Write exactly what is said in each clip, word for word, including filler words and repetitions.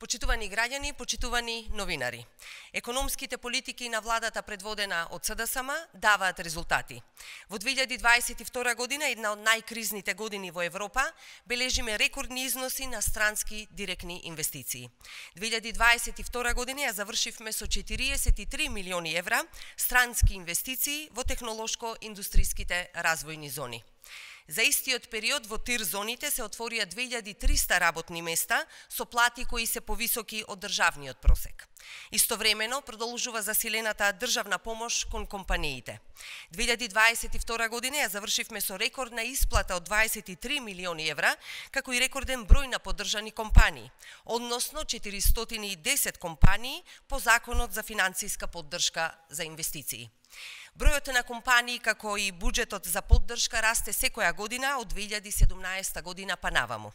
Почитувани граѓани, почитувани новинари. Економските политики на владата предводена од СДСМ даваат резултати. Во две илјади дваесет и втора година, една од најкризните години во Европа, бележиме рекордни износи на странски директни инвестиции. две илјади дваесет и втора година ја завршивме со четириесет и три милиони евра странски инвестиции во технолошко-индустријските развојни зони. За истиот период во тир зоните се отворија две илјади триста работни места со плати кои се повисоки од државниот просек. Истовремено продолжува засилената државна помош кон компаниите. две илјади дваесет и втора година ја завршивме со рекордна исплата од дваесет и три милиони евра, како и рекорден број на поддржани компании, односно четиристотини и десет компании по Законот за финансиска поддршка за инвестиции. Бројот на компании како и буџетот за поддршка расте секоја година од две илјади седумнаесета година па наваму.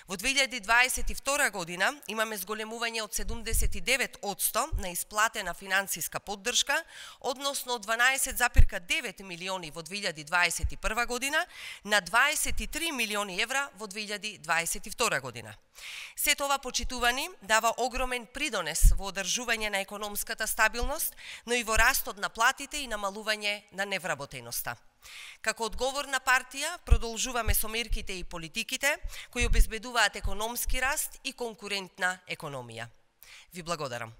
Во две илјади дваесет и втора година имаме зголемување од седумдесет и девет одсто на исплатена финансиска поддршка, односно од дванаесет запирка девет милиони во две илјади дваесет и прва година на дваесет и три милиони евра во две илјади дваесет и втора година. Сето ова, почитувани, дава огромен придонес во одржување на економската стабилност, но и во растот на платите и намалување на невработеноста. Како одговорна партија, продолжуваме со мерките и политиките кои обезбедуваат економски раст и конкурентна економија. Ви благодарам.